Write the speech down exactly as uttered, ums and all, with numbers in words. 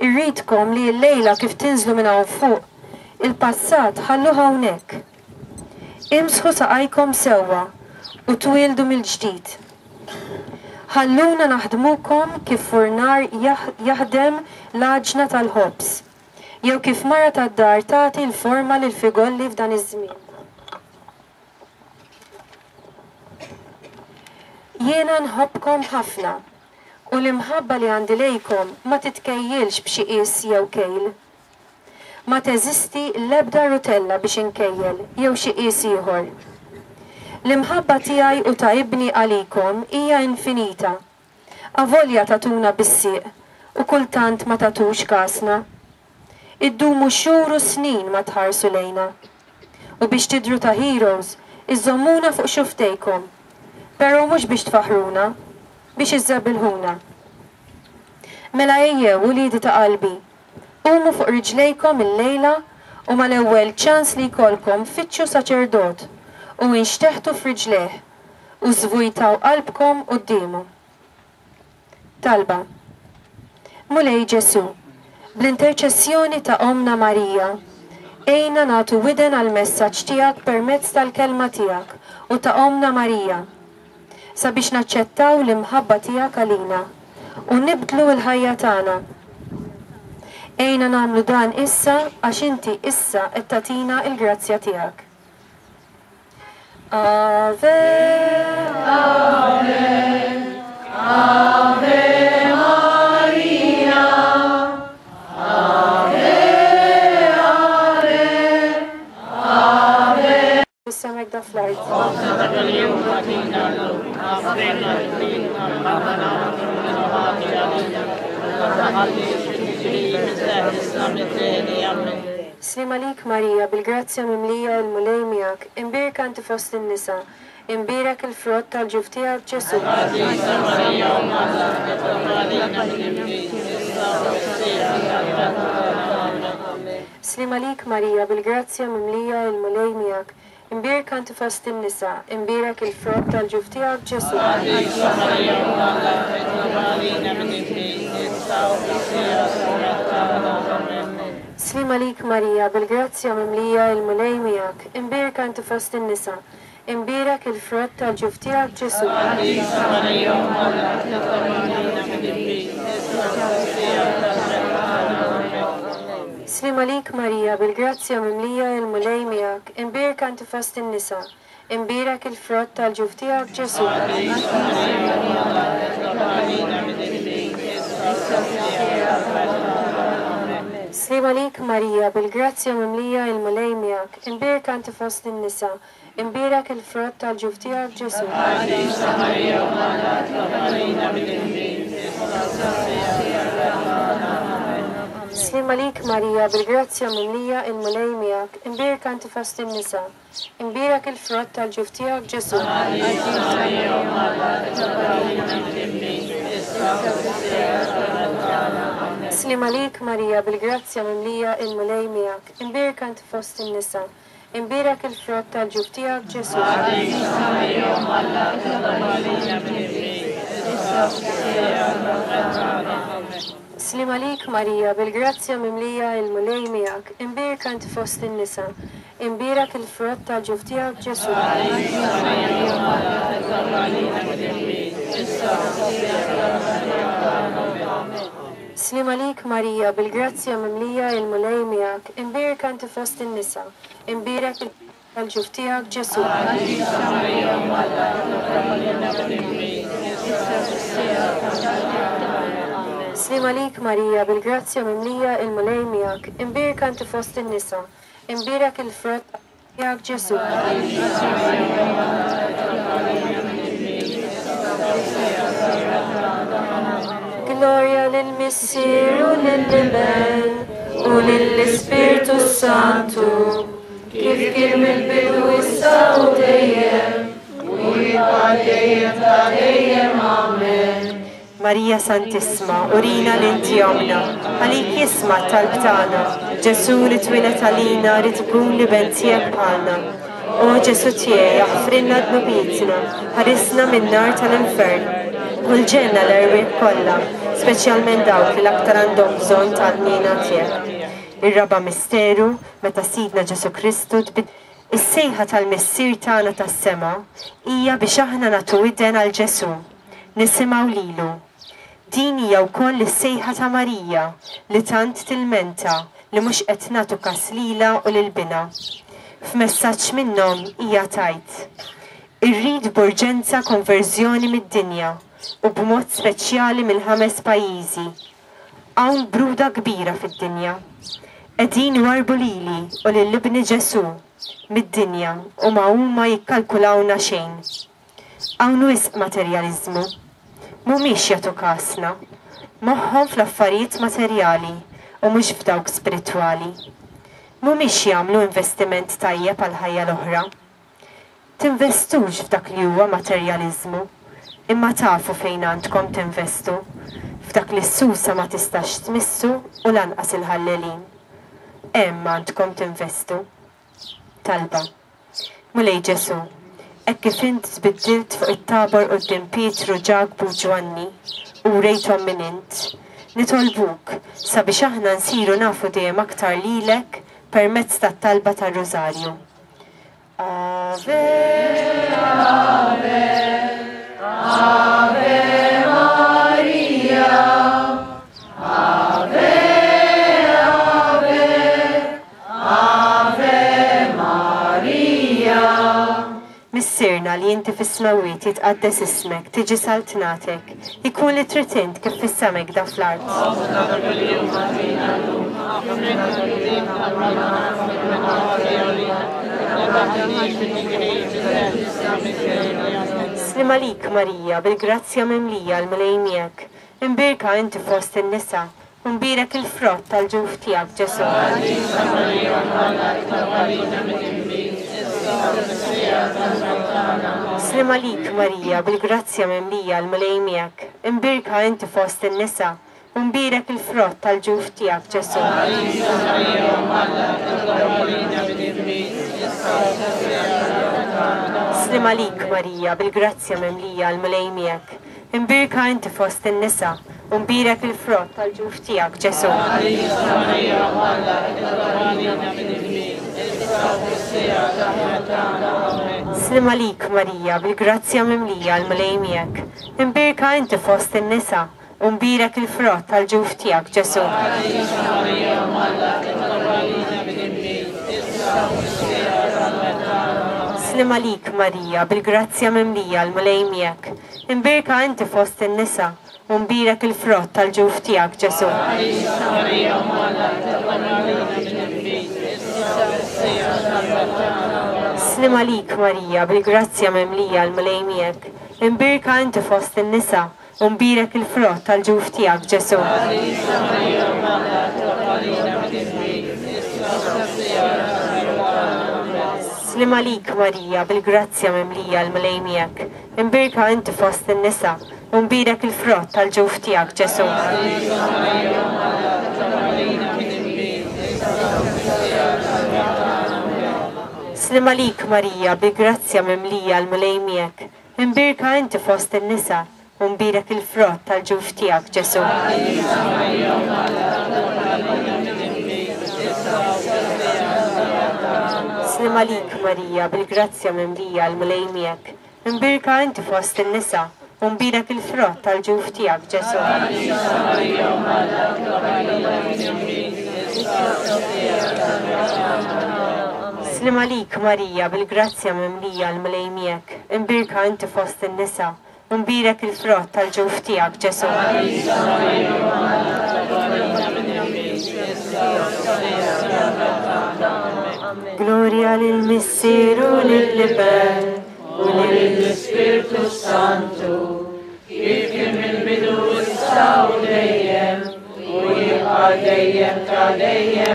Irridkom li llejla kif tinżlu minn hawn fuq, il-passat ħalluh hawnhekk. Imsħu saqajkom sewwa u twieldu mill-ġdid. Ħalluna naħdmukom kif furnar jaħdem l-għaġna tal-ħobż, jew kif mara tad-dar tagħti l-forma lil figolli f'dan iż-żmien. Jiena nħobbkom ħafna u l-imħabba li għandi lejkom ma titkejjilx b'xi qies jew kejl. Ma teżisti l-ebda rutella biex inkejjel jew xi qies ieħor. L-imħabba tiegħi u ta' ibni għalikom hija infinita. Avolja tatuna bis-sieq u kultant ma tatux kasna. Iddumu xhur u snin ma tħarsu lejna. U biex tidru ta' heroes, iżommuna fuq xuftejkom. Però mhux biex tfaħruna, biex iżżebilħuna. Mela ejjew uliedi ta' qalbi, qumu fuq riġlejkom illejla u mal-ewwel ċans li jkollkom fittxu saċerdot u inxteħtu f'riġlejh u żvujtaw qalbkom quddiemu. Talba. Mulej Ġesu, bl-interċessjoni ta' Omna Marija, ejna nagħtu widen għall-messaġġ tiegħek permezz tal-kelma tiegħek u ta' Omna Marija, sabiex naċċettaw l-imħabba tiegħek għalina u nibdlu l-ħajja tagħna. Ejna nagħmlu dan issa għax inti issa qed tagħtina l-grazzja tiegħek. Ave, Ave, Ave Maria, Ave, Ave, Ave. Issemek da fl-art. Slim għalik Marija, bil-grazzja mimlija il-Mulej miegħek, imbierka inti fost in-nisa, imbierek il-frott tal-ġuf tiegħek Ġesu. Slim għalik Marija, bil-grazzja mimlija il-Mulej miegħek, imbierka inti fost in-nisa, imbierek il-frott tal-ġuf tiegħek Ġesu. Slim għalik Marija, bil-grazzja mimlija il-Mulej miegħek, imbierka inti fost in-nisa, imbierek il-frott tal-ġuf tiegħek Ġesu. Slim għalik Marija, bil-grazzja mimlija il-Mulej miegħek, imbierka inti fost in-nisa, imbierek il-frott tal-ġuf tiegħek Ġesu. Slim għalik Marija, bil-grazzja mimlija il-Mulej miegħek, imbierka inti fost in-nisa, imbierek il-frott tal-ġuf tiegħek Ġesu. Slim għalik Marija, bil-grazzja mimlija il-Mulej miegħek, imbierka inti fost in-nisa, imbierek il-frott tal-ġuf tiegħek Ġesu. Slim għalik Marija, bil-grazzja mimlija il-Mulej miegħek, imbierka inti fost in-nisa, imbierek il-frott tal-ġuf tiegħek Ġesu. Slim għalik Marija, bil-grazzja mimlija il-Mulej miegħek, imbierka inti fost in-nisa, imbierek il-frott tal-ġuf tiegħek Ġesu. Slim għalik Marija, bil-grazzja mimlija il-Mulej miegħek, imbierka inti fost in-nisa, imbierek il-ġuf tiegħek Ġesu. Slim għalik Marija, bil-grazzja mimlija il-Mulej miegħek, imbierka inti fost in-nisa, imbierek il-frott tiegħek Ġesu. Gloria lill-Missier u lill-Iben u lill-Ispirtu Santu, kif kien mill-bidu issa u dejjem, u jibqa' dejjem ta' dejjem. Amen. Marija Santissima, urina li inti omna, għalik jisma' t-talb tagħna. Ġesu li twieled għalina rid ikun l-iben tiegħek bħalna. O Ġesu tiegħi, aħfrilna dnubietna, ħarisna min-nar tal-infern, u l-ġenna l-erwieħ kollha, speċjalment dawk li l-aktar għandhom bżonn tal-ħniena tiegħek. Ir-raba' misteru meta Sidna Ġesù Kristu tbid Is-sejħa tal-Missier tagħna tas-sema hija biex aħna nagħtu widen għal Ġesù, nisimgħu lilu. Din hija wkoll is-sejħa ta' Marija li tant tilmenta li mhux qed nagħtu kas lilha u lil binha. F'messaġġ minnhom hija tgħid: Irrid b'urġenza konverżjoni mid-dinja u b'mod speċjali mill-ħames pajjiżi. Hawn bruda kbira fid-dinja. Qegħdin iwarrbu lili u lil ibni Ġesù mid-dinja u ma huma jikkalkulawna xejn. Hawn wisq materjaliżmu. Mhumiex jagħtu kasna. Moħħhom fl-affarijiet materjali u mhux f'dawk spiritwali. Mhumiex jagħmlu investiment tajjeb għall-ħajja l-oħra. Tinvestux f'dak li huwa materjaliżmu, imma tafu fejn għandkom tinvestu, f'dak li s-susa ma tistax tmissu u lanqas il-ħallelin. Hemm għandkom tinvestu. Talba. Mulej Ġesù, hekk kif int tbiddilt fuq it-Tabor quddiem Pietru, Ġakbu u Ġwanni u wrejthom min int, nitolbuk sabiex aħna nsiru nafu dejjem aktar lilek permezz tat-talba tar-Rużarju. Ave, Ave, Ave Maria, Ave, Ave, Ave Maria. Missierna li inti fis-smewwiet, jitqaddes ismek, tiġi saltnatek, ikun li trid int kif fis-sema hekk fl-art. Ħobżna ta' kuljum agħtina llum, aħfrilna dnubietna bħalma aħna naħfru La taħdinix fit-tiġrib, eħlisna mix-xejn. Sliem għalik Marija, bil-grazzja mimlija, l-Mulej miegħek. Imbierka inti fost in-nisa, u mbierek il-frott tal-ġuf tiegħek Ġesù. Qaddisa Marija, Omm Alla, itlob għalina midinbin, issa u fis-siegħa tal-mewt tagħna. Sliem għalik Marija, bil-grazzja mimlija, l-Mulej miegħek. Imbierka inti fost in-nisa, u mbierek il-frott tal-ġuf tiegħek Ġesù. Qaddisa Marija, Omm Alla, itlob għalina midinbin, issa u fis-siegħa tal-mewt tagħna. Sliem għalik Marija, bil-grazzja mimlija, l-Mulej miegħek. Imbierka inti fost in-nisa, u mbierek il-frott tal-ġuf tiegħek Ġesù. Qaddisa Marija, Omm Alla, itlob għalina midinbin, issa u fis-siegħa tal-mewt tagħna. Amen. Sliem għalik Marija, bil-grazzja mimlija, l-Mulej miegħek. Imbierka inti fost in-nisa, u mbierek il-frott tal-ġuf tiegħek Ġesù. Qaddisa Marija, Omm Alla, itlob għalina midinbin, issa u fis-siegħa tal-mewt tagħna. Amen. Sliem għalik Marija, bil-grazzja mimlija, l-Mulej miegħek. Imbierka inti fost in-nisa, u mbierek il-frott tal-ġuf tiegħek Ġesù. Qaddisa Marija, Omm Alla, itlob għalina midinbin, issa u fis-siegħa tal-mewt tagħna. Amen. Sliem għalik Marija, bil-grazzja mimlija, l-Mulej miegħek. Imbierka inti fost in-nisa, u mbierek il-frott tal-ġuf tiegħek Ġesù. Qaddisa Marija, Omm Alla, itlob għalina midinbin, issa u fis-siegħa tal-mewt tagħna. Amen. Sliem għalik Marija, bil-grazzja mimlija, l-Mulej miegħek. Imbierka inti fost in-nisa, u mbierek il-frott tal-ġuf tiegħek Ġesù. Qaddisa Marija, Omm Alla, itlob għalina midinbin, issa u fis-siegħa tal-mewt tagħna. Amen. Sliem għalik Marija, bil-grazzja mimlija, l-Mulej miegħek. Imbierka inti fost in-nisa, u mbierek il-frott tal-ġuf tiegħek Ġesù. Qaddisa Marija, Omm Alla, itlob għalina midinbin, issa u fis-siegħa tal-mewt tagħna. Sliem għalik Marija, bil-grazzja mimlija, l-Mulej miegħek. Imbierka inti fost in-nisa, u mbierek il-frott tal-ġuf tiegħek Ġesù. Qaddisa Marija, Omm Alla, itlob għalina midinbin, issa u fis-siegħa tal-mewt tagħna. Amen. Sliem għalik Marija, bil-grazzja mimlija, l-Mulej miegħek. Imbierka inti fost in-nisa, u mbierek il-frott tal-ġuf tiegħek Ġesù. Qaddisa Marija, Omm Alla, itlob għalina midinbin, issa u fis-siegħa tal-mewt tagħna. Amen. Gloria lil Missier u lill-Iben u lill-Ispirtu Santu, kif kien mill-bidu, issa u dejjem, u jibqa' dejjem ta' dejjem.